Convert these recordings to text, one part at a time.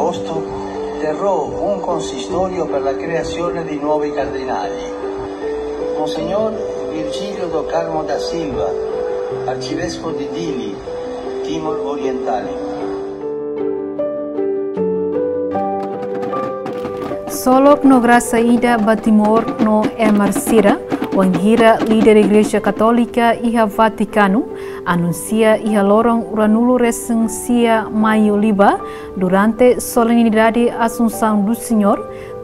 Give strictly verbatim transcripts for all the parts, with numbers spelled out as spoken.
Agosto terrò un consistorio per la creazione di nuovi cardinali. Monsignor Virgílio do Carmo da Silva, arcivescovo di Dili, Timor Orientale. Solok no grasa ida ba Timor no ema sira, wainhira líder Igreja Katólika iha Vatikanu anunsia iha loron ruanulu resin sia Maiu liubá, durante solenidade Assunção do Senhor,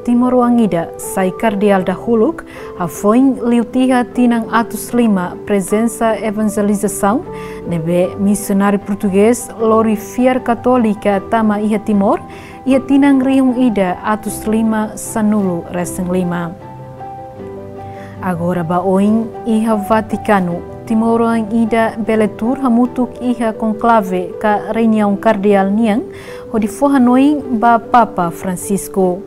timoroan ida sai kardeál dahuluk, hafoin liu tiha tinan atus lima prezensa evanjelizasaun, ne'ebé misionáriu portugés lori fiar katólika tama iha Timor, iha tinan rihun ida atus lima sanulu resin lima. Agora ba oin iha Vatikanu, timoroan ida bele tuur hamutuk iha konklave ka reuniaun kardeál nian, hodi fó hanoin ba Papa Francisco.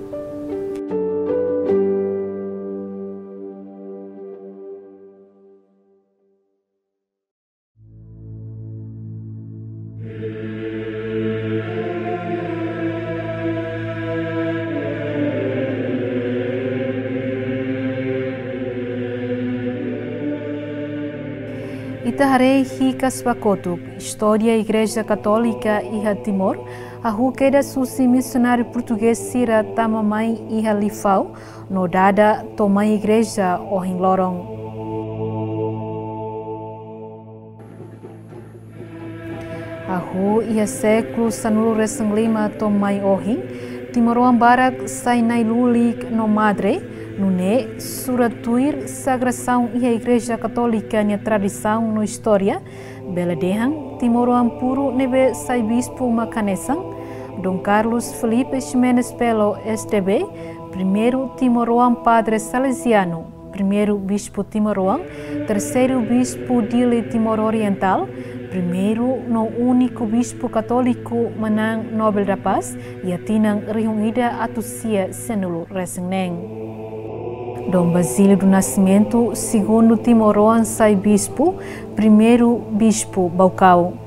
Ita haree hikas ba kotuk, istória Igreja Katólika iha Timor, hahú kedas husi misionáriu portugés sira tama mai iha Lifau, no dada to'o mai igreja ohin loron. Hahú iha sékulu sanulu resin lima to'o mai ohin, timoroan barak sai na'i-lulik no madre, nune'e sura tuir sagrasaun iha Igreja Katólika nia tradisaun no istória, bele dehan timoroan puru ne'ebé sai bispu mak hanesan Dom Carlos Felipe Ximenes Belo, S D B, primeiru timoroan padre salesianu, primeiru bispu timoroan, terseiru bispu Dili Timor Oriental, primeiru no úniku bispu katóliku manán Nobel da Paz, iha tinan rihun ida atus sia sanulu resin neen. Dom Basílio do Nascimento, segundu timoroan sai bispu, primeiru bispu Baucau.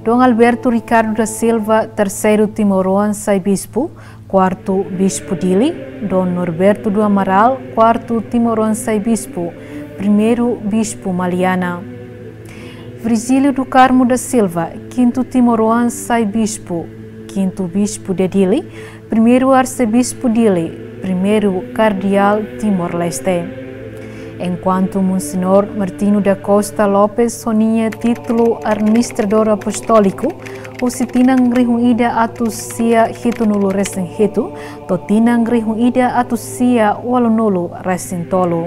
Dom Alberto Ricardo da Silva, terseiru timoroan sai bispu, kuartu bispu Dili. Dom Norberto do Amaral, kuartu timoroan sai bispu, primeiru bispu Maliana. Virgílio do Carmo da Silva, kintu timoroan sai bispu, kintu bispu de Dili, primeiru arsebispu Dili, primeiru kardeál Timor-Leste. Enkuantu Monsenhor Martinho da Costa Lopes ho nia títulu administradór apostóliku, husi tinan rihun ida atus sia hitunulu resin hitu, to'o tinan rihun ida atus sia ualunulu resin tolu.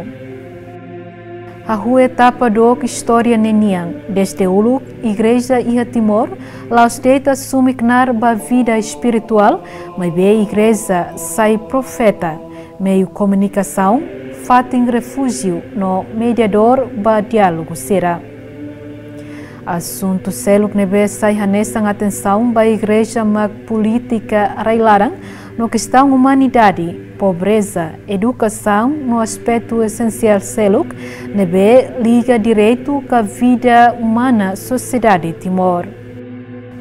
Hahú etapa dook istória ne'e nian, dezde uluk, Igreja iha Timor la'ós de'it asume knaar ba vida espirituál, maibé Igreja sai profeta, meiu komunikasaun, fatin refújiu no mediadór ba diálogu sira. Asuntu seluk ne'ebé sai hanesan atensaun ba Igreja mak polítika rai-laran no kestaun umanidade, pobreza, edukasaun no aspetu esensiál seluk ne'ebé liga direitu ka vida umana sosiedade Timor.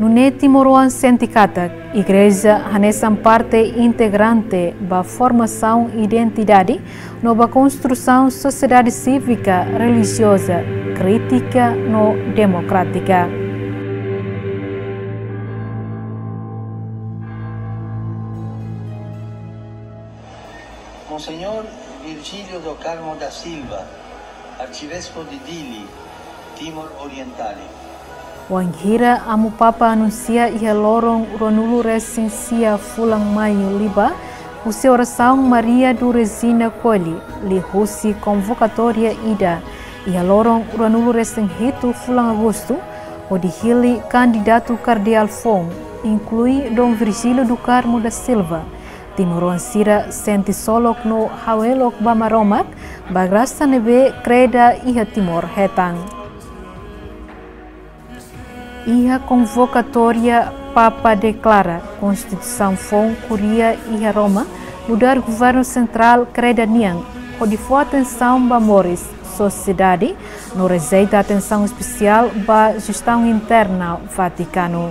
Nune'e timoroan sente katak Igreja hanesan parte integrante ba formasaun identidade no ba konstrusaun sosiedade sívika, relijioza, krítika no demokrátika. Monsenhor Virgílio do Carmo da Silva, arcebispo de Dili, Timor Orientale. Wainhira Amu Papa anunsia iha loron ruanulu resin sia fulan Maiu liubá, husi orasaun Maria do Regina Coeli, liuhusi konvokatória ida iha loron ruanulu resin hitu fulan Agostu, hodi hili kandidatu kardeál foun, inklui Dom Virgílio do Carmo da Silva, timoroan sira sente solok no ha'u elok ba Maromak, ba grasa ne'ebé kreda iha Timor hetan. Iha konvokatória, Papa deklara konstituisaun foun kuria iha Roma, nu'udar governu sentrál kreda nian, hodi fó atensaun ba moris sosiedade, no rejeita atensaun espesiál ba jestaun interna Vatikanu.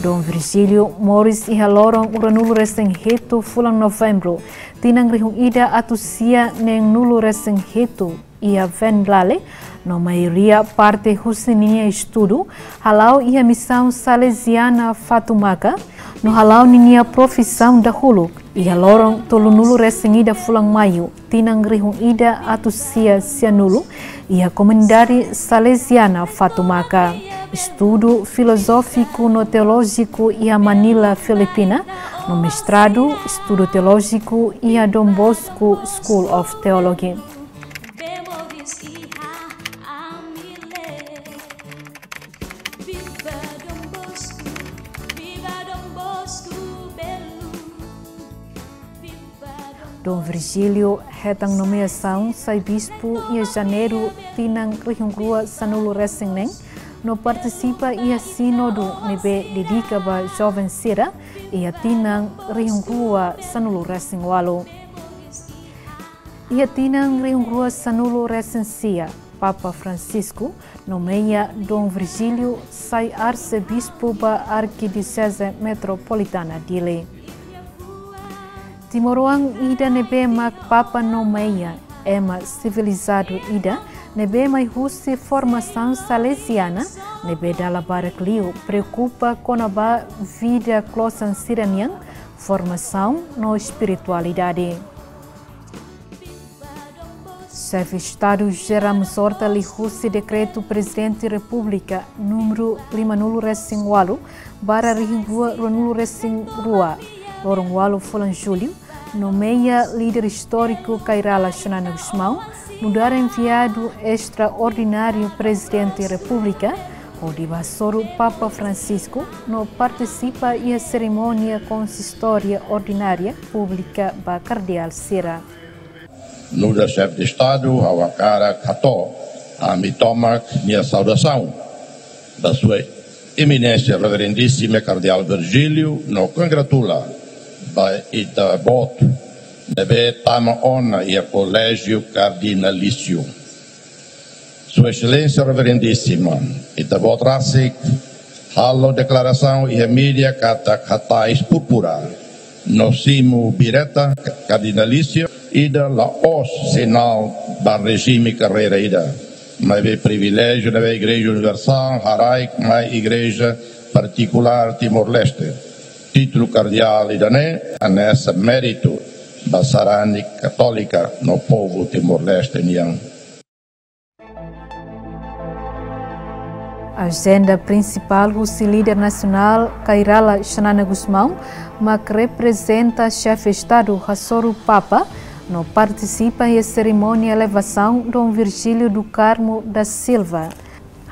Dom Virgílio moris iha loron ruanulu-resin-hitu fulan Novembru, tinan rihun ida atus sia neenulu-resin-hitu, iha Venlale, no maioria parte husi ninia estudu hala'o iha Misaun Salesiana Fatumaka, no hala'o ninia profisaun dahuluk iha loron tolunulu-resin-ida fulan Maiu, tinan rihun ida atus sia sianulu, iha komunidade Salesiana Fatumaka. Estudu filozófiku no teolójiku iha Manila, Filipina, no mestradu estudu teolójiku iha Don Bosco School of Theology. Dom Virgílio hetan nomeasaun sai bispu iha Janeiru tinan rihun rua sanulu-resin-neen, no partisipa iha sínodu ne'ebé dedika ba joven sira iha tinan rihun rua sanulu-resin-ualu. Iha tinan rihun rua sanulu-resin-sia, Papa Francisco nomeia Dom Virgílio sai arsebispu ba Arkidioseze Metropolitana Dili. Timoroan ida ne'ebé mak Papa nomeia, ema sivilizadu ida ne'ebé mai husi formasaun salesiana, ne'ebé dala barak liu preokupa kona-ba vida klosan sira-nian, formasaun no espiritualidade. Xefe Estadu José Ramos Horta liuhusi dekretu Prezidente Repúblika númeru limanulu-resin-ualu barra rihun rua ruanulu-resin-rua, loron ualu fulan Jullu, nomeia líder istóriku Kay Rala Xanana Gusmão nu'udar enviadu estraordináriu Prezidente Repúblika, hodi bá hasoru Papa Francisco no partisipa iha serimónia konsistória ordinária públika ba kardeál sira. Nu'udar Xefe Estadu, ha'u hakarak hato'o ami tomak nia saudasaun ba Sua Eminénsia Reverendíssima Kardeál Virgílio, no kongratula ba ita-boot ne'ebé tama ona iha Koléjiu Kardinalísiu. Sua Exelénsia Reverendíssima, ita-boot rasik halo deklarasaun iha média katak hatais púrpura no simu bireta kardinalísiu ida la'ós sinál ba rejime karreira ida, maibé priviléjiu ne'ebé Igreja Universál haraik mai igreja partikulár Timor-Leste. Títulu kardeál ida-ne'e hanesan méritu ba sarani katólika no povu Timor-Leste nian. Ajenda prinsipál husi líder nasionál Kay Rala Xanana Gusmão mak reprezenta Xefe Estadu hasoru Papa no partisipa iha serimónia elevasaun Dom Virgílio do Carmo da Silva,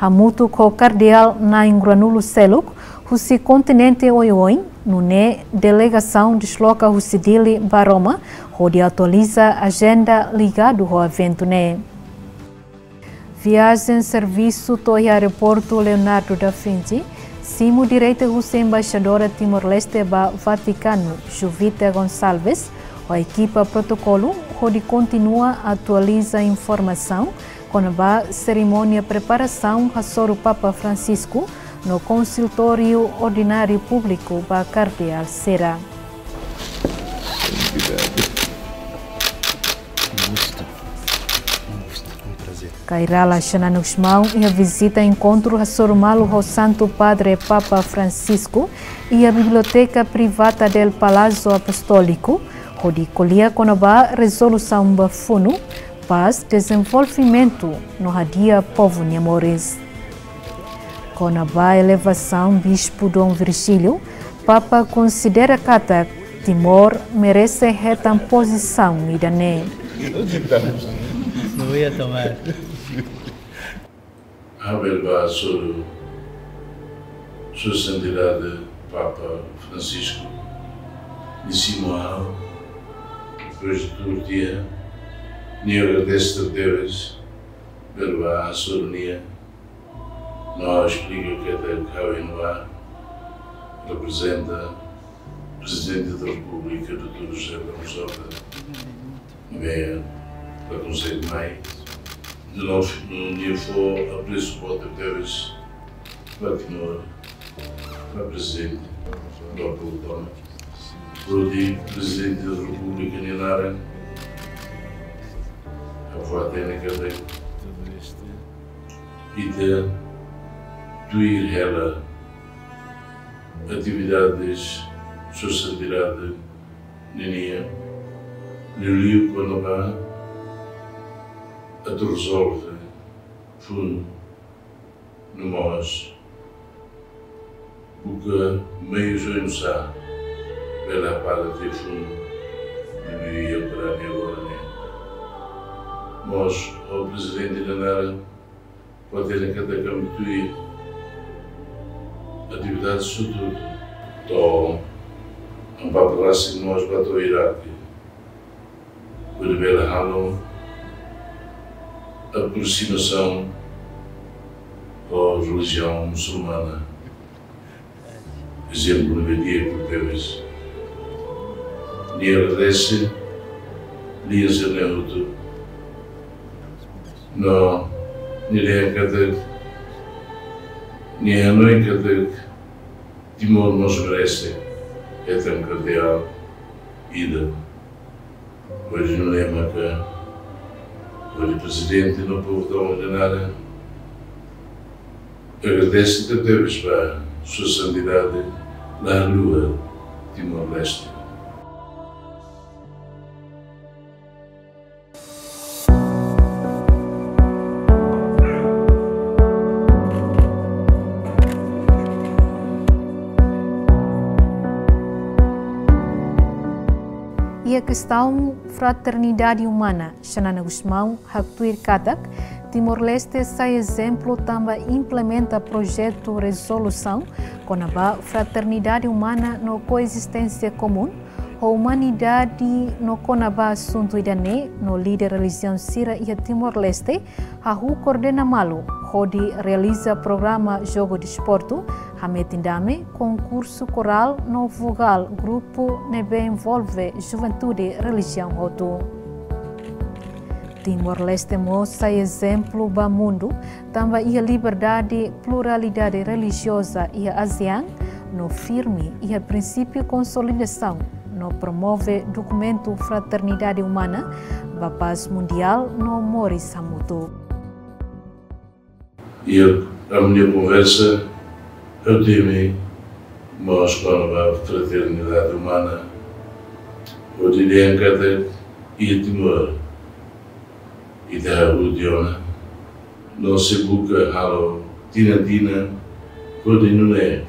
hamutuk ho kardeál na'in ruanulu seluk husi kontinente oioin, nune'e delegasaun desloka husi Dili ba Roma, hodi atualiza ajenda ligadu ho eventu ne'e. Viajen servisu to'o iha Aeroportu Leonardo da Vinci, simu direta husi Embaixadora Timor-Leste ba Vatikanu, Juvita Gonçalves, ho ekipa protokolu, hodi kontinua atualiza informasaun kona-ba serimónia preparasaun hasoru Papa Francisco no konsultóriu ordináriu públiku ba kardeál sira. Kay Rala Xanana Gusmão iha vizita enkontru hasoru malu ho Santu Padre Papa Francisco iha Biblioteka Privada del Palácio Apostólico, hodi ko'alia kona-ba rezolusaun ba funu, pás, dezenvolvimentu no hadi'a povu nia moris. Kona-ba elevasaun Bispu Dom Virgílio, Papa konsidera katak Timor merese hetan pozisaun ida-ne'e. Não ia tomar. Ha'u bele bá hasoru Sua Santidade Papa Francisco, nia simu ha'u, depois de tuur tiha, nia agradese tebes, bele bá hasoru nia, no ha'u esplika katak ha'u iha ne'ebá reprezenta Prezidente da Repúblika, doutór José Ramos Horta, ne'ebé la konsege mai. Nia fó apresu boot tebes ba Timor. Prezidente, Doktor Tona, hodi Prezidente da Repúblika nia naran, ha'u hatene katak ita tuir hela atividades sosiedade nian, liuliu kona-ba atu rezolve funu no mós buka meius oinsá bele paga telefone de meio para neurone. Mós o Prezidente da Nara pode ter cada campo atividade sudu to ampapurasi mós ba to'o Iraque. Hodi bele halo aproximasaun ho relijiaun musulmana. Ezemplu ne'ebé di'ak tebes. Nia agradese, nia sene hotu. No, nia dehan katak, nia hanoin katak, Timor mós merese hetan kardeál ida. Hodi nune'e maka, hodi Prezidente no povu tomak nia naran, agradese tebetebes ba Sua Santidade la haluha Timor-Leste. Iha kestaun fraternidade umana, Xanana Gusmão haktuir katak, Timor-Leste sai ezemplu tanba implementa projetu rezolusaun kona-ba fraternidade umana no koezisténsia komún, ho umanidade no kona-ba asuntu ida-ne'e no líder relijiaun sira iha Timor-Leste hahú koordena malu hodi realiza programa jogu desportu, hametin dame, konkursu korál no vogál grupu ne'ebé envolve juventude relijiaun hotu. Timor-Leste mós sai ezemplu ba mundu, tanba iha liberdade, pluralidade relijioza iha ASEAN, no firme iha prinsípiu konsolidasaun, no promove dokumentu fraternidade umana, ba pás mundiál no moris hamutuk. Iha ami-nia konversa, ha'u temi mós kona-ba fraternidade umana, hodi dehan katak iha Timor, ita hahú tiha ona, no sei buka halo tinan-tinan, hodi nune'e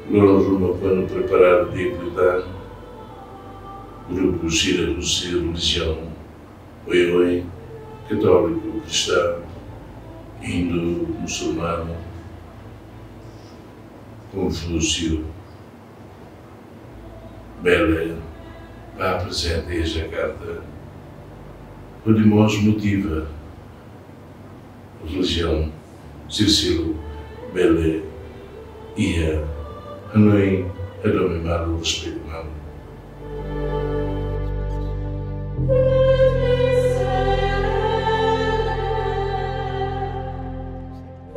loron ruma kuandu preparadu di'ak liután, grupu sira husi relijiaun oioin, katóliku, kristaun, hindu, musulmanu, Konfúsiu, bele bá prezente iha Jakarta, hodi mós motiva relijiaun sira seluk bele iha hanoin hadomi malu, respeitu malu.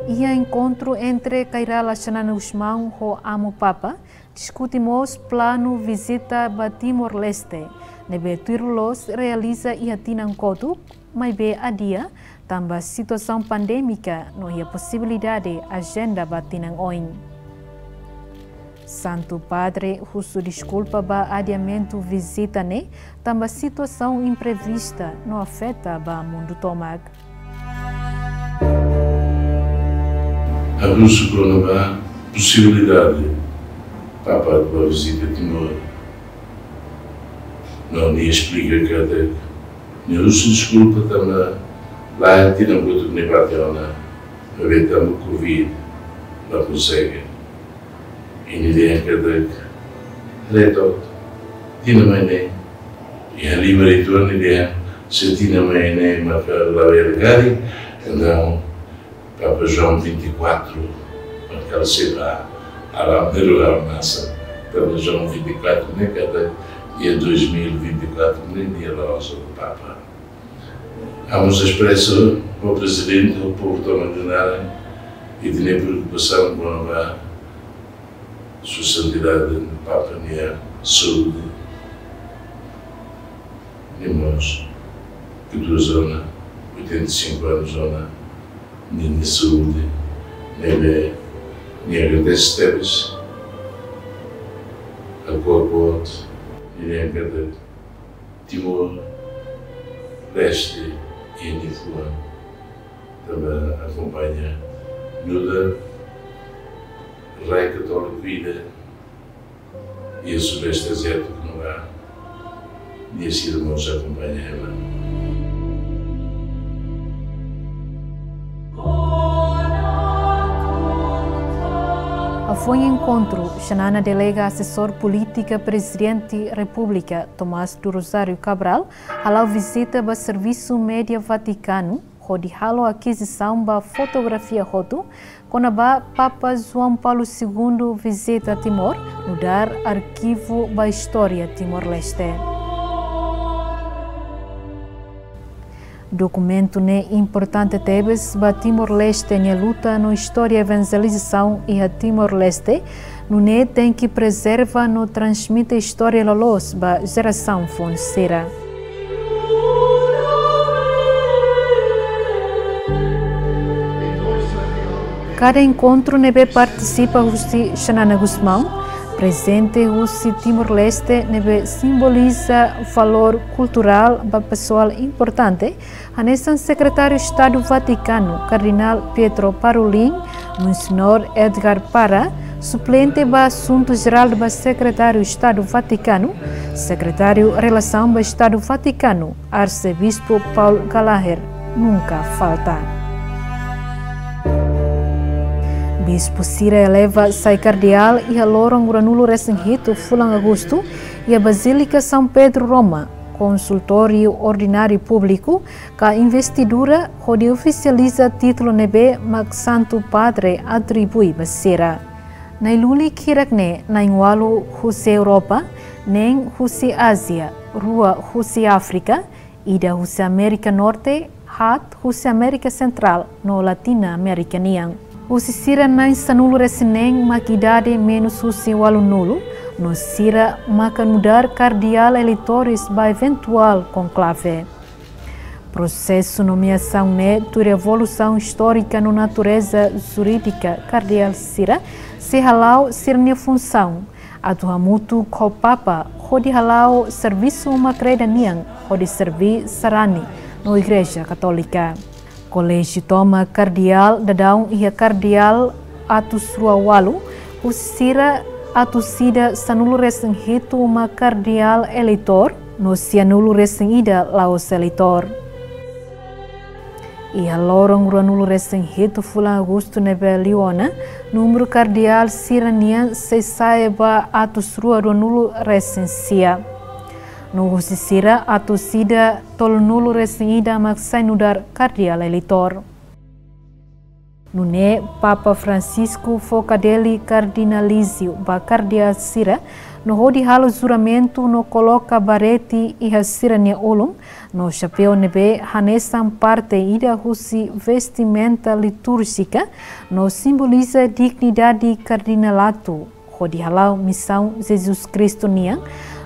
Iha enkontru entre Kay Rala Xanana Gusmão ho Amu Papa, diskute mós planu vizita ba Timor-Leste, ne'ebé tuir loloos realiza iha tinan kotuk, maibé adia, tanba situasaun pandémika no iha posibilidade ajenda ba tinan oin. Santu Padre husu deskulpa ba adiamentu vizita ne'e, tanba situasaun imprevista no afeta ba mundu tomak. Ha'u husu kona-ba posibilidade Papa atu bá vizita Timor. No nia esplika katak nia husu deskulpa tanba la tinan kotuk nia bá tiha ona, maibé tanba Covid la konsege. I nia dehan katak, reto, tinan mai ne'e, iha lima rituál nia dehan, se tinan mai ne'e maka labele karik, entaun, Papa João vinte e quatro, maka sei bá, alam de lugar masa, Papa João vinte e quatro ne'e katak, iha dois mil e vinte e quatro ne'e, nia la hosi Papa. Ha'u mós espresa ba Prezidente, ba povu tomak nia naran, ita-nia preokupasaun kona-ba, Sua Santidade Papa nia saúde, nia mós, ke dua zona, oitenta e cinco anos zona, nia, nia saúde, ne'ebé nia agradese tebes, a korpot, nia, nia agradese Timor-Leste, nia fuan, tanba akompaña, nu'udar rai katóliku ida, iha Sudeste Aziátiku no ba, nia sira mós akompaña ema. Hafoin enkontru, Xanana delega Asesór Polítika Prezidente Repúblika, Tomás do Rosário Cabral, hala'o vizita ba Servisu Média Vatikanu, hodi halo akizisaun ba fotografia hotu, kona-ba Papa João Paulo Segundo vizita Timor, nu'udar arkivu ba istória Timor-Leste. Dokumentu ne'e importante tebes ba Timor-Leste nia luta no istória evanjelizasaun iha Timor-Leste, nune'e tenke prezerva no transmite istória loloos ba jerasaun foun sira. Kada enkontru ne'ebé partisipa husi Xanana Gusmão, prezente husi Timor-Leste ne'ebé simboliza valór kulturál ba pesoál importante, hanesan Sekretáriu Estadu Vatikanu, Kardinál Pietro Parolin, Monsenhor Edgar Parra, suplente ba Asuntu Jerál ba Sekretáriu Estadu Vatikanu, Sekretáriu Relasaun ba Estadu Vatikanu, Arsebispu Paul Gallagher, nunka falta. Bispu sira eleva sai kardeál iha loron ruanulu-resin-hitu fulan Agostu, iha Bazílika São Pedro, Roma, konsultóriu ordináriu públiku, ka investidura hodi ofisializa títulu ne'ebé mak Santu Padre atribui ba sira. Nai lulik hirak-ne'e na'in-ualu husi Europa, neen husi Ázia, rua husi Áfrika, ida husi Amérika Norte, haat husi Amérika Sentrál no Latina Amérika nian. Husi sira na'in sanulu-resin-neen mak idade menus husi ualunulu, no sira maka nu'udar kardeál eleitores ba eventuál konklave. Prosesu nomeasaun ne'e tuir evolusaun istórika no natureza jurídika kardeál sira sei hala'o sira-nia funsaun atu hamutuk ho Papa hodi hala'o servisu uma-kreda nian hodi serví sarani no Igreja Katólika. Koléjiu tomak kardeál daudaun iha kardeál atus rua ualu, husi sira atus ida sanulu-resin-hitu mak kardeál eleitór, no sianulu-resin-ida la'ós eleitór. Iha loron ruanulu-resin-hitu fulan Agostu ne'ebé liu ona, númeru kardeál sira-nian sei sa'e ba atus rua ruanulu-resin-sia. No husi sira atus ida tolunulu-resin-ida mak sai nu'udar kardeál eleitór. Nune'e Papa Francisco fó kadeli kardinalíziu ba kardeál sira, no hodi halo juramentu no koloka barete iha sira-nia ulun, no xapeu ne'ebé hanesan parte ida husi vestimenta litúrjika, no simboliza dignidade kardinalatu, hodi hala'o misaun Jesus Kristu nian,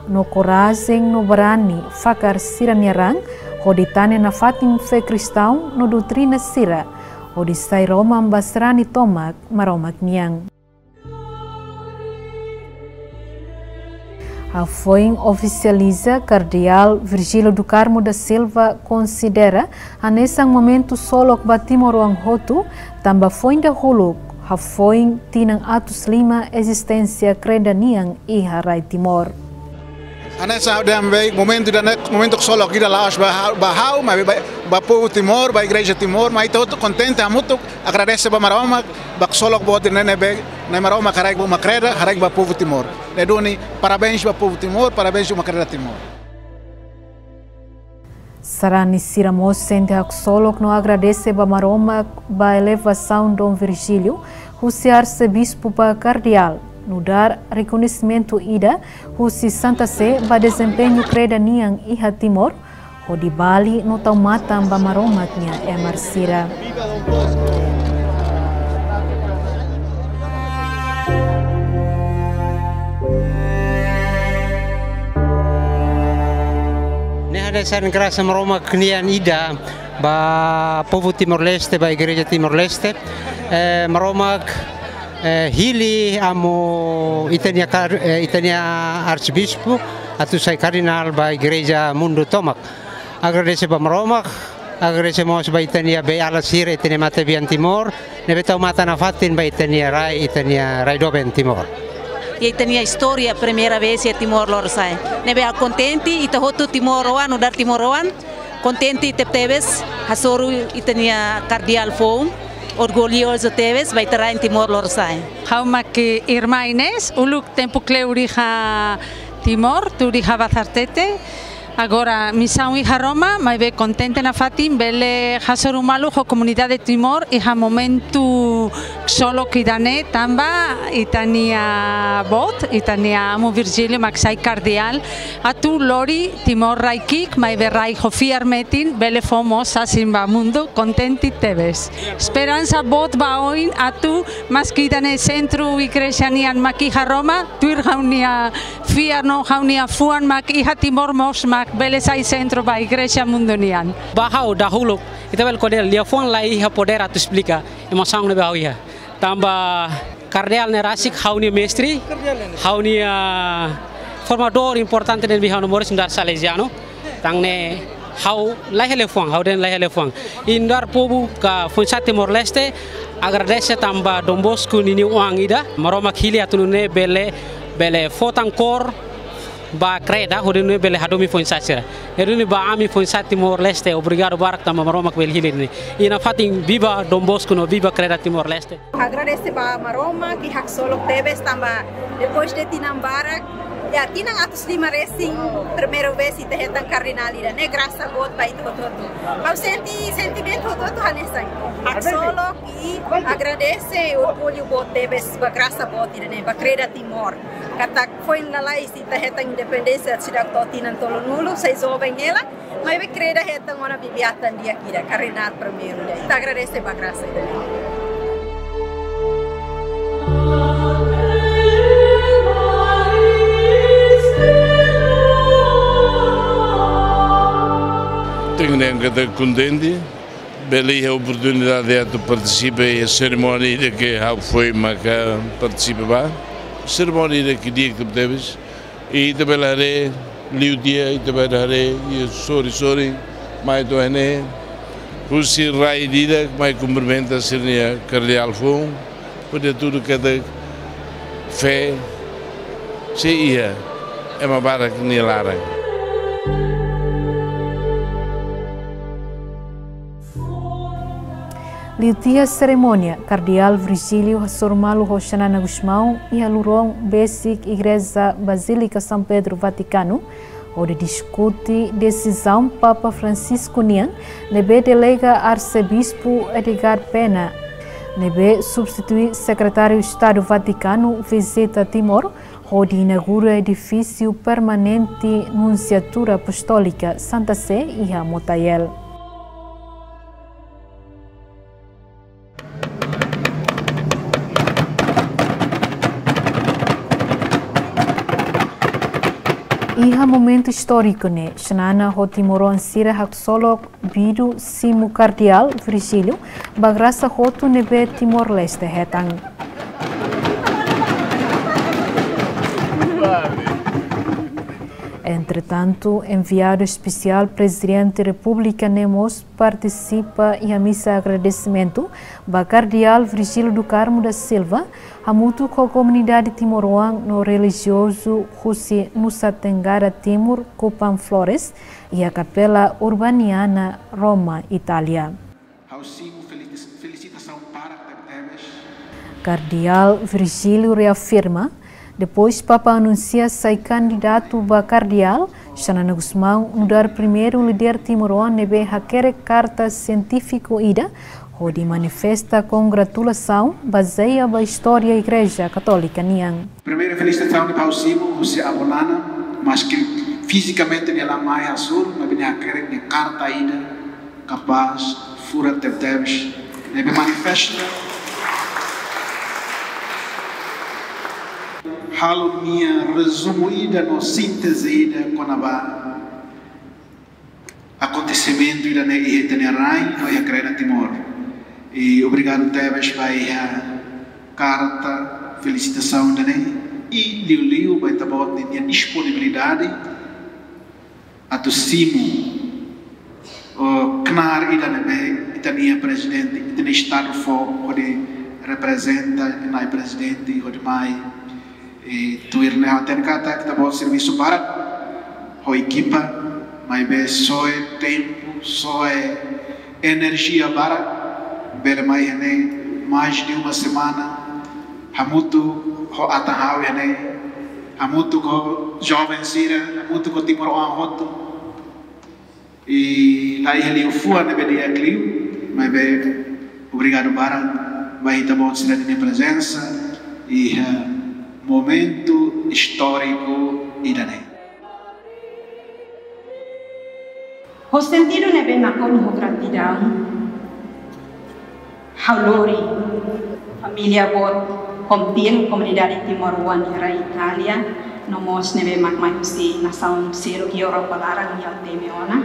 no korajen no barani fakar sira-nia raan, hodi tane nafatin fé kristaun no doutrina sira, hodi sai roman ba sarani tomak Maromak nian. Hafoin ofisializa, Kardeál Virgílio do Carmo da Silva konsidera hanesan momentu ksolok ba timoroan hotu, tanba foin dahuluk, hafoin tinan atus lima ezisténsia kreda nian iha rai Timor. Hanesan dehan be momentu ida-ne'e momentu ksolok ida la'ós ba ha'u, ba ha'u, maibé ba, ba povu Timor, ba Igreja Timor, maibé ita hotu kontente hamutuk, agradese ba Maromak, ba ksolok boot ida-ne'e ne'ebé Nai Maromak haraik ba uma kreda, haraik ba povu Timor. Ne'e duni, parabéns ba povu Timor, parabéns uma kreda Timor. Sarani sira mós sente haksolok no agradese ba Maromak ba elevasaun Dom Virgílio husi arsebispu ba kardeál, nu'udar rekoñesimentu ida husi Santa Sé ba dezempeñu kreda nian iha Timor, hodi bali no tau matan ba Maromak nia emar sira. Hanesan grasa Maromak nian ida ba povu Timor-Leste, ba Igreja Timor-Leste. Eh, Maromak, eh, hili amu ita-nia kar-, eh, ita-nia arsebispu atu sai kardinál ba igreja mundu tomak. Agradese ba Maromak, agradese mós ba ita-nia beiala sira, ita-nia matebian Timor, ne'ebé tau matan nafatin ba ita-nia rai, ita-nia rai doben Timor. Iha ita-nia istória primeira vez iha Timor Lorosa'e. Ne'ebé ha'u kontente, ita hotu timoroan, nu'udar timoroan, kontente tebetebes, hasoru ita-nia kardeál foun, orgullozu tebes ba ita-nia rain Timor Lorosa'e. Ha'u mak irmá Inês, uluk tempu kleur iha Timor, tuur iha Bazartete. Agora misaun iha Roma, maibé kontente nafatin bele hasoru malu ho komunidade Timor iha momentu ksolok ida-ne'e, tanba ita-nia boot, ita-nia amu Virgílio mak sai kardeál, atu lori Timor rai ki'ik, maibé rai ho fiar metin, bele fó mós sasin ba mundu, kontente tebes. Esperansa boot ba oin atu, maski ida-ne'e sentru igreja nian mak iha Roma, tuir ha'u-nia fiar no ha'u-nia fuan mak iha Timor mós mak bele sai sentru ba igreja mundu nian. Ba ha'u dahuluk, ita bele ko'alia, liafuan la iha podér atu esplika emosaun ne'ebé ha'u iha. Tanba kardeál ne'e rasik ha'u-nia mestre, ha'u-nia formadór importante ne'ebé ha'u-nia moris nu'udar Salezianu. Tan ne'e ha'u la iha liafuan, ha'u dehan la iha liafuan. Nu'udar povu ka foin-sa'e Timor-Leste, agradese tanba Don Bosco ninia oan ida, Maromak hili atu nune'e bele, bele fó tan kór ba kreda, hodi nune'e bele hadomi foin-sa'e sira. Hodi nune'e ba ami foin-sa'e Timor-Leste, obrigadu barak tanba Maromak bele hili ne'e. I nafatin viva Don Bosco no viva kreda Timor-Leste. Agradese ba Maromak, ke haksolok tebes tanba depois de tinan barak, ya tinan atus lima resin, primeira vez ita hetan kardinál ida-ne'e, grasa boot ba ita hotu-hotu. Ha'u sente sentimentu hotu-hotu hanesan haksolok i agradese, orgullu boot tebes ba grasa boot ida-ne'e, ba kreda Timor. Katak foin lalais ita hetan independénsia seidauk to'o tinan tolunulu, sai joven hela, maibé kreda hetan ona bibi-atan di'ak ida, kardinál primeiru ida. Ita agradese ba grasa ida. Tenke dehan katak kontente, bele iha oportunidade atu partisipa iha serimónia ida ke ha'u foin maka partisipa ba. Serimónia ida ke di'ak tebetebes. I ita bele haree, liu tiha, ita bele haree, i sorin-sorin mai to'o iha ne'e, husi rai ida-idak mai kumprimenta sira-nia kardeál foun, hodi hatudu katak fé sei iha ema barak nia laran. Liu tiha serimónia, Kardeál Virgílio hasoru malu ho Xanana Gusmão iha lurón besik Igreja Basílika São Pedro, Vatikanu, hodi diskute desizaun Papa Francisco nian, ne'ebé delega Arsebispu Edgar Penna, ne'ebé substitui Sekretáriu Estadu Vatikanu, vizita Timor, hodi inaugura edifísiu permanente Nunsiatura Apostólika Santa Sé iha Motael. Iha momentu istóriku ne'e, Xanana ho timoroan sira haksolok bidu simu Kardeál Virgílio ba grasa hotu ne'ebé Timor-Leste hetan. Entretantu, enviadu espesiál Prezidente Repúblika ne'e mós partisipa iha misa agradesimentu ba Kardeál Virgílio do Carmo da Silva, hamutuk ho komunidade timoroan no relijiozu husi Nusa Tenggara Timur, Kupang Flores, iha Kapela Urbaniana, Roma, Itália. Ha'u simu felis-, felisitasaun barak tebetebes. Kardeál Virgílio reafirma, depois Papa anunsia sai kandidatu ba kardeál, Xanana Gusmão nu'udar primeiru líder timoroan ne'ebé hakerek karta sientífiku ida, hodi manifesta kongratulasaun bazeia ba istória Igreja Katólika nian. Primeira felisitasaun ne'ebé ha'u simu husi avó Nana, maski fizikamente nia la mai hasoru, maibé nia hakerek nia karta ida, kapás, furak tebetebes, ne'ebé manifesta halo nia rezumu ida no sínteze ida kona-ba Rekoñesimentu ida-ne'e iha ita-nia rain, no iha Kreda Timor. I obrigadu tebes ba iha karta felisitasaun ida-ne'e. I liuliu ba ita-boot ninia disponibilidade atu simu, o, knaar ida ne'ebé ita-nia prezidente, ita-nia estadu fó hodi reprezenta, nai prezidente hodi mai. I tuir ne'e ha'u hatene katak ita-boot servisu barak ho ekipa, maibé soe tempu, soe enerjia barak, bele mai iha ne'e mais de uma semana, hamutuk ho atan ha'u iha ne'e, hamutuk ho joven sira, hamutuk ho timoroan hotu. I la iha liafuan ne'ebé di'ak liu, maibé obrigadu barak ba ita-boot sira-nia prezensa iha momentu istóriku ida-ne'e. Ho sentidu ne'ebé nakonu ho gratidaun, ha'u lori família boot Pontin, komunidade timoroan iha rai Itália, no mós ne'ebé mak mai husi nasaun seluk iha Europa laran, ha'u temi ona.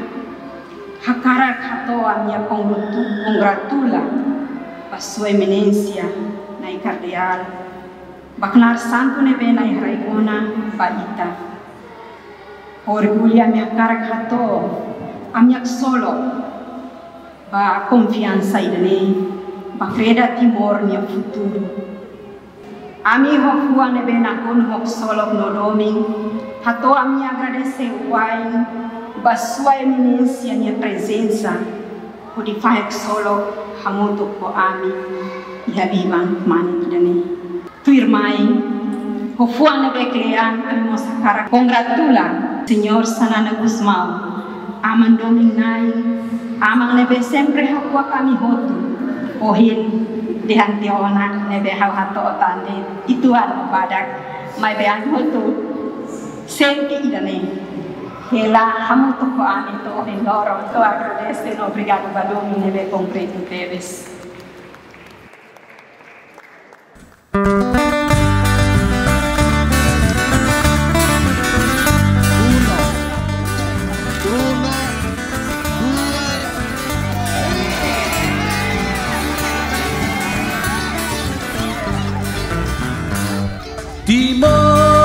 Hakarak hato'o ami-nia kongratu-, kongratula ba Sua Eminénsia Nai Kardeál, ba knaar santu ne'ebé Nai haraik ona ba ita. Orgullu ami hakarak hato'o ami haksolok ba konfiansa ida-ne'e, ba Kreda Timor nia futuru. Ami ho fuan ne'ebé nakonu ho ksolok no domin, hato'o ami agradese wa'in ba Sua Eminénsia nia prezensa, hodi fahe ksolok hamutuk ho ami iha biban mane ida-ne'e. Tuirmai, ho fuan ne'ebé kle'an ami mós hakarak kongratula Señór Xanana Gusmão, Aman Domin Nai, aman ne'ebé sempre hakuak ami hotu. Ohin dehan tiha ona ne'ebé ha'u hato'o tan de'it uitoan badak, maibé ami hotu sente ida-ne'e. Hela hamutuk ho ami to'o ohin loron, hato'o agradese no obrigadu ba domin ne'ebé konkretu tebes. Timor.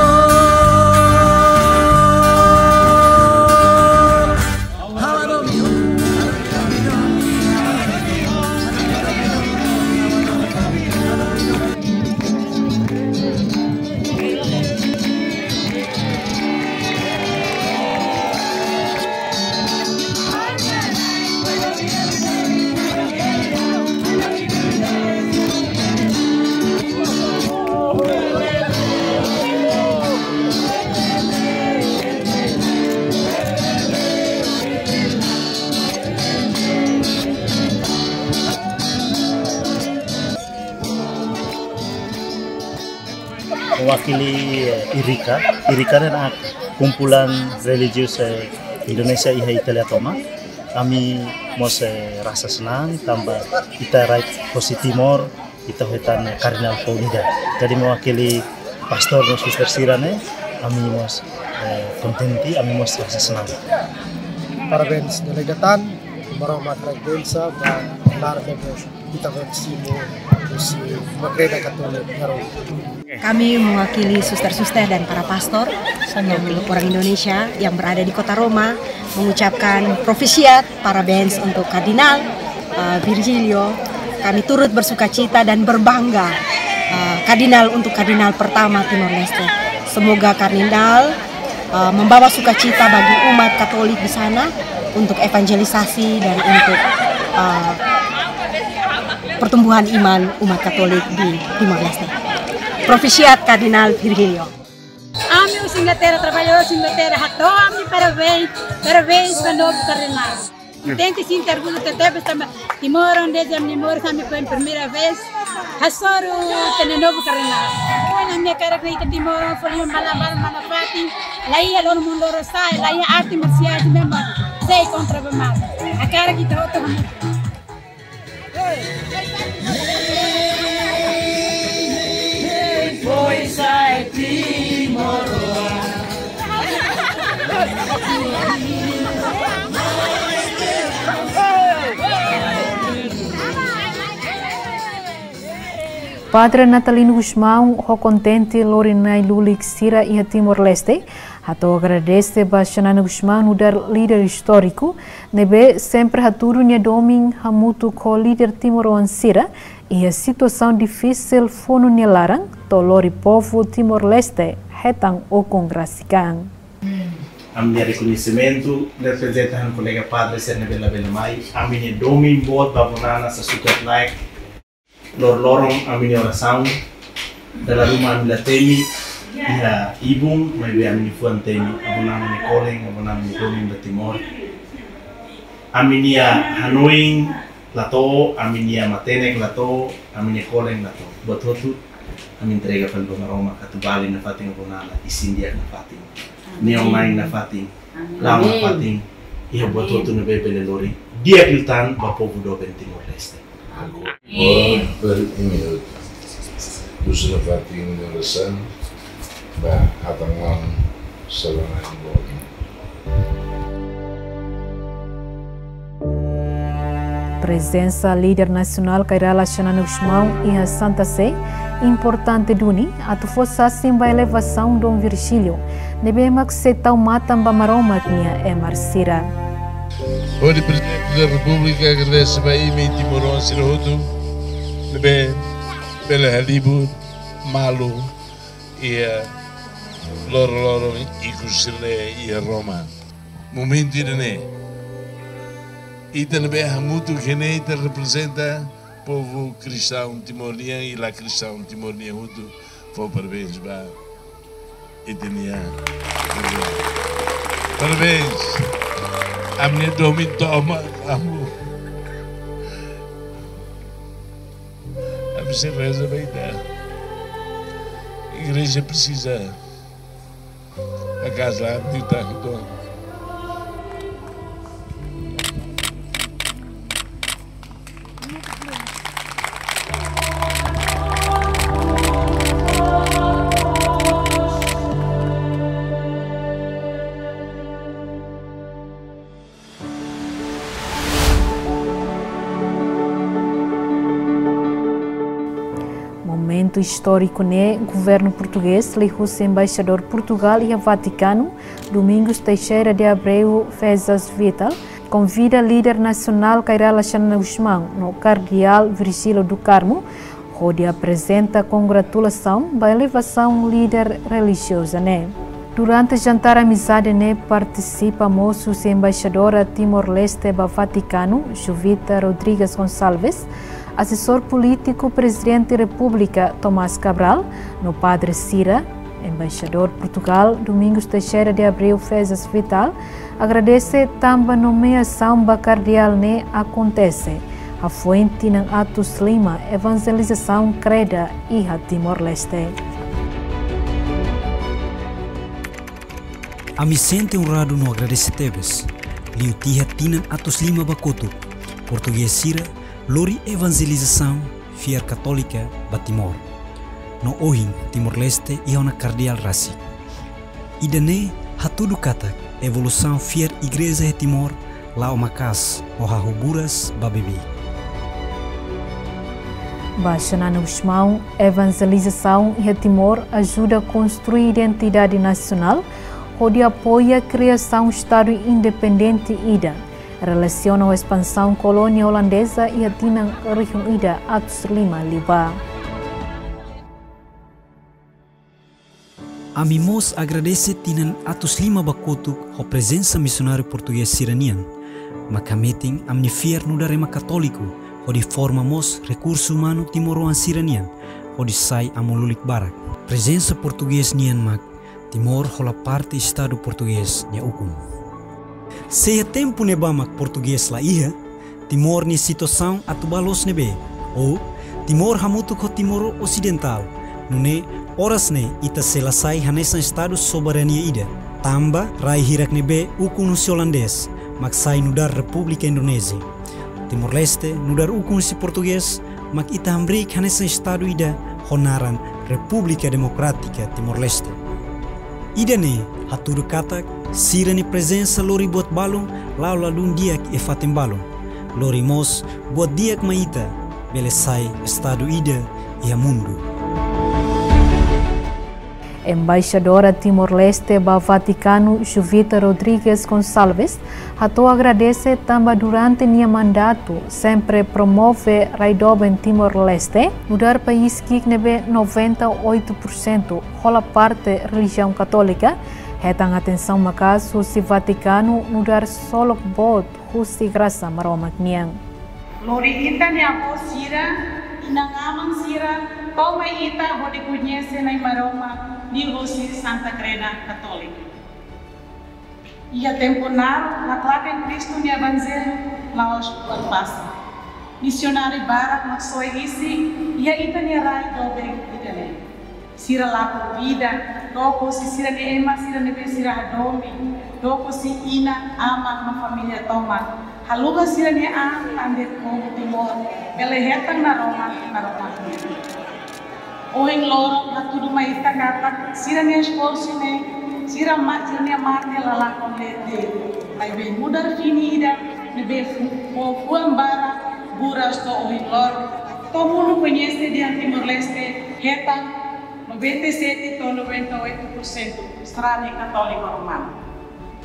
Mewakili, eh, IRIKA. IRIKA ne'e kumpulan religius, eh, Indonesia iha Italia tomak. Ami mós, eh, rasa senang tanba ita rai husi Timor, ita hetan, eh, Kardinál foun ida. Jadi mewakili pastór no suster sira-ne'e, ami mós, eh, kontente, ami mós rasa senang. Parabéns delegatan, Maromak rai bensa ba lar ne'ebé ita-boot simu husi Kreda Katólika Roma. Kami mewakili suster-suster dan para pastor yang orang Indonesia yang berada di kota Roma mengucapkan proficiat, parabéns untuk Kardinál, eh, Virgílio. Kami turut bersukacita dan berbangga, eh, Kardinál untuk Kardinál pertama Timor Leste. Semoga Kardinál, eh, membawa sukacita bagi umat Katolik di sana untuk evangelisasi dan untuk, eh, pertumbuhan iman umat Katolik di Timor Leste. Proficiat Kardinál Virgílio. Ami husi Inglaterra, trabalhadór husi Inglaterra, hato'o ami parabéns, parabéns ba novu Kardinál. Kontente, sente orgullu tebes tanba Timor, onde ami moris, ami foin primeira vez hasoru tiha ona novu Kardinál. Foin ami hakarak ita Timor, foin malu, malu, malu fatin, la iha loron mun loron sa'e, la iha arte marsiál, mesmu sei kontra ba malu. Hakarak ita hotu hamutuk. Pois ai Timor. Padre Natalino Gusmão ho kontente lori na'i-lulik sira iha Timor-Leste, hato'o agradese ba Xanana Gusmão nu'udar líder istóriku, ne'ebé sempre hatudu nia domin hamutuk ho líder timoroan sira iha situasaun difisil funu nia laran, to'o lori povu Timor-Leste hetan ukun rasik an. Ami-nia rekoñesimentu reprezenta ha'u-nia kolega padre sira ne'ebé labele mai. Ami-nia domin boot ba Bonana sa sukat laek. Loroloron ami-nia orasaun. Dala ruma ami la temi iha ibun, maibé ami-nia fuan temi. Abonana nia kolen, abonana nia domin ba Timor. Ami-nia hanoin la to'o, ami-nia matenek la to'o, ami-nia kolen la to'o. Buat hotu, ami entrega fali ba Maromak atu bali nafatin Abonana, isin di'ak nafatin. Amin. Neon nain nafatin. Amin. La'o nafatin. Iha buat hotu ne'ebé bele lori di'ak liután ba povu doben Timor-Leste. Amin. Agora, bele imi husu nafatin nia orasaun ba hatán maun Xanana Gusmão. Prezensa líder nasionál Kay Rala Xanana Gusmão iha Santa Sé importante duni atu fó sasin ba elevasaun Dom Virgílio, ne'ebé mak sei tau matan ba Maromak nia emar sira. Hodi Prezidente da Repúblika agradese ba imi timoroan sira hotu ne'ebé bele halibur malu iha loroloron ikus sira-ne'e iha Roma. Momentu ida-ne'e, ita ne'ebé hamutuk iha ne'e, ita reprezenta povu kristaun Timor nian i la kristaun Timor nian hotu, fó parabéns ba ita-nia. Parabéns. Ami-nia domin tomak, amu. Ami sei reza ba ita. Igreja presiza. Akas la, di tanto. Momentu istóriku ne'e, governu portugés liuhusi embaixadór Portugal iha Vatikanu, Domingos Teixeira de Abreu Fezas Vital, konvida líder nasionál Kay Rala Xanana Gusmão no Kardeál Virgílio do Carmo, hodi aprezenta kongratulasaun ba elevasaun líder relijioza ne'e. Durante jantár amizade ne'e partisipa mós husi embaixadora Timor-Leste ba Vatikanu, Jovita Rodrigues Gonçalves, asesór polítiku Prezidente Repúblika Tomás Cabral, no padre sira. Embaixadór Portugal, Domingos Teixeira de Abreu Fezas Vital, agradese tanba nomeasaun ba kardeál ne'e akontese hafoin tinan atus lima evanjelizasaun kreda iha Timor-Leste. Ami sente onradu no agradese tebes, liu tiha tinan atus lima ba kotuk, portugés sira lori evanjelizasaun fiar katólika ba Timor. No ohin, Timor-Leste iha ona kardeál rasik. Ida-ne'e hatudu katak evolusaun fiar igreja iha Timor la'o maka'as no hahú buras ba beibeik. Ba Xanana Gusmão, evanjelizasaun iha Timor ajuda konstrui identidade nasionál, hodi apoia kriasaun Estadu independente ida, relasiona ho espansaun kolónia olandeza iha tinan rihun ida atus lima liubá. Ami mós agradese tinan atus lima ba kotuk ho prezensa misionáriu portugés sira-nian, mak hametin ami-nia fiar nu'udar ema katóliku, hodi forma mós rekursu umanu timoroan sira-nian, hodi sai amu-lulik barak. Prezensa portugés nian mak Timor hola parte Estadu portugés nia ukun. Se iha tempu ne'ebá mak portugés la iha, Timor nia situasaun atu ba loos ne'ebé, ou Timor hamutuk ho Timor Osidentál, nune'e oras ne'e ita sei la sai hanesan Estadu soberania ida, tanba rai hirak ne'ebé ukun husi olandés, mak sai nu'udar Repúblika Indonézia. Timor-Leste nu'udar ukun husi portugés, mak ita hamriik hanesan Estadu ida ho naran Repúblika Demokrátika Timor-Leste. Ida-ne'e hatudu katak sira-nia prezensa lori buat balun la'o ladún di'ak iha fatin balun. Lori mós buat di'ak mai ita bele sai Estadu ida iha mundu. Embaixadora Timor-Leste ba Vatikanu, Juvita Rodrigues Gonçalves, hato'o agradese tanba durante nia mandatu sempre promove rai doben Timor-Leste, nu'udar país ki'ik ne'ebé noventa e oito por cento hola parte relijiaun Katólika, hetan atensaun maka'as husi Vatikanu nu'udar solok boot husi grasa Maromak nian. Lori ita-nia avó sira, inan-aman sira, tau mai ita hodi koñese Na'i Maromak liuhusi Santa Kreda Katólika. Iha tempu naruk, laklaken Kristu nia Evanjellu la'ós buat fasil. Misionáriu barak mak soe isin iha ita-nia rai doben ida-ne'e. Sira lakon vida, dook husi sira-nia ema sira ne'ebé sira hadomi, dook husi inan, aman no família tomak, haluha sira-nia an tan de'it povu Timor bele hetan naroman, naroman nian. Ohin loron hatudu mai ita katak sira-nia esforsu ne'e, sira ma-, sira-nia mate la lakon de'it. Maibé nu'udar fini ida ne'ebé fu-, fó fuan barak buras to'o ohin loron, to'o mundu koñese dehan Timor-Leste hetan noventa e sete to'o noventa e oito por cento sarani Katóliku Romanu.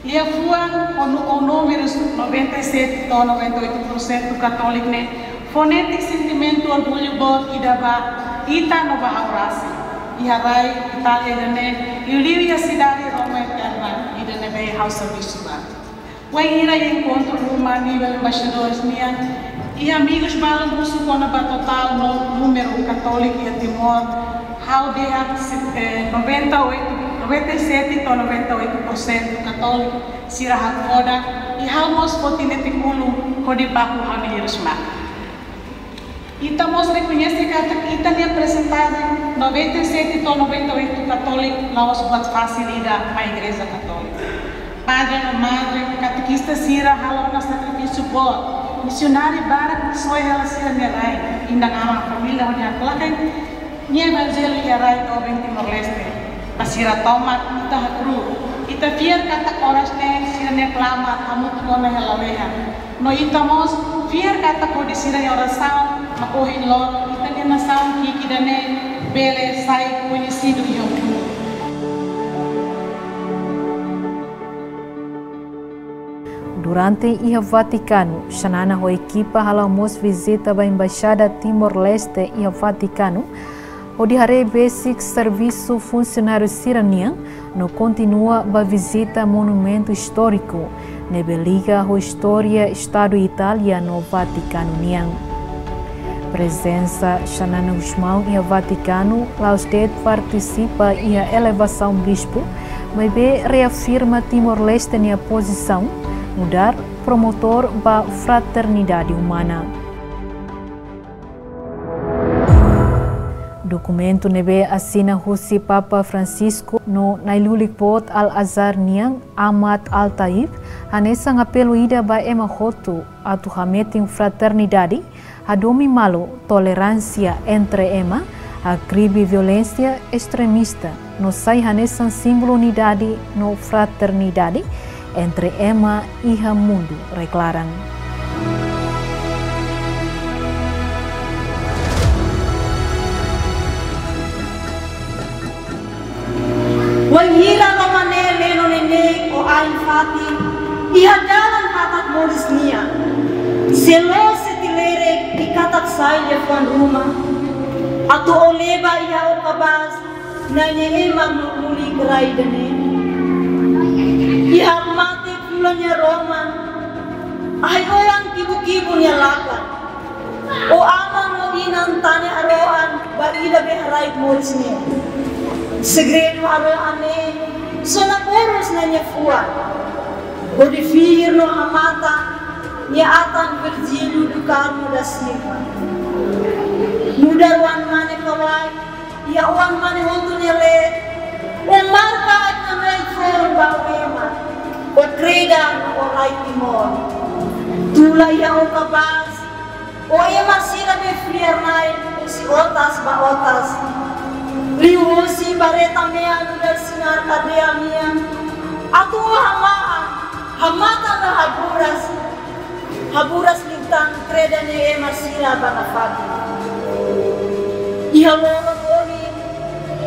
Liafuan ho nu-, ho númerus noventa e sete to'o noventa e oito por cento Katóliku ne'e fó netik sentimentu orgullu boot ida ba ita no ba ha'u rasik. Iha rai Itália ida-ne'e, liuliu iha sidade Roma Eterna ida ne'ebé ha'u servisu ba. Wainhira iha enkontru ruma nivel embaixadores nian, iha amigus balu husu kona-ba totál no númeru Katóliku iha Timor, ha'u dehan, eh, noventa e oito, noventa e sete to'o noventa e oito por cento Katóliku sira hakfodak, i ha'u mós foti netik ulun hodi baku ha'u-nia hirus-matan. Ita mós rekoñese katak ita-nia persentajen noventa e sete to'o noventa e oito Katóliku la'ós buat fasil ida ba Igreja Katólika. Padre no madre, katekista sira halo ona sakrifísiu boot. Misionáriu barak soe hela sira-nia rai, inan-aman, família hodi haklaken nia Evanjellu iha rai doben Timor-Leste. Ba sira tomak ita hakru'uk. Ita fiar katak oras ne'e sira-nia klamar hamutuk ona iha lalehan. No ita mós fiar katak hodi sira-nia orasaun mak ohin loron ita-nia nasaun ki'ik ida-ne'e bele sai koñesidu iha mundu. Durante iha Vatikanu, Xanana ho ekipa hala'o mós vizita ba Embaixada Timor-Leste iha Vatikanu, hodi haree besik servisu funsionáriu sira-nian, no kontinua ba vizita monumentu istóriku ne'ebé liga ho istória Estadu Itália no Vatikanu nian. Prezensa Xanana Gusmão iha Vatikanu la'ós de'it partisipa iha elevasaun bispu, maibé reafirma Timor-Leste nia pozisaun nu'udar promotór ba fraternidade umana. Dokumentu ne'ebé asina husi Papa Francisco no Nai-Lulik Boot Al-Azhar nian, Ahmad Al-Taib, hanesan apelu ida ba ema hotu atu hametin fraternidade, hadomi malu, toleránsia entre ema, hakribi violénsia estremista, no sai hanesan símbolu unidade no fraternidade entre ema iha mundu, reklaran. Wainhira Roma ne'e leno neineik ho ain-fatin iha dalan hakat moris nian, selo seti lerek i katak sai liafuan ruma atu o leba iha o kabas Nai nia ema no lulik rai ida-ne'e. Iha mate fulan nia Roma, ahi oan kibu-kibu nia lakan. O aman no inan tane harohan ba ida be haraik moris ne'e. Segredu harohan ne'e sona boros Nai nia fuan. Hodi fihir no hamatan nia atan Virgílio do Carmo da Silva. Nu'udar oan mane ka wai, iha oan mane hotu nia leet, o marka aat-na'in-neen foun ba o ema, o kreda no o rai Timor. Tula iha o kabas, o ema sira be fiar-na'in husi otas ba otas. Liuhusi bareta mean nu'udar sinar kadeia nian, atu o hamahan, hamatan no haburas, haburas liután kreda nia ema sira ba nafatin. Iha loron ohin,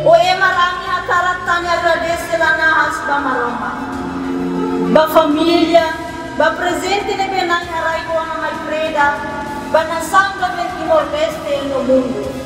ó ema rame hakarak tane agradese lanahas ba Maromak, ba família, ba prezente ne'ebé Na'i haraik ona mai Freda, ba nasaun doben Timor-Leste no mundu.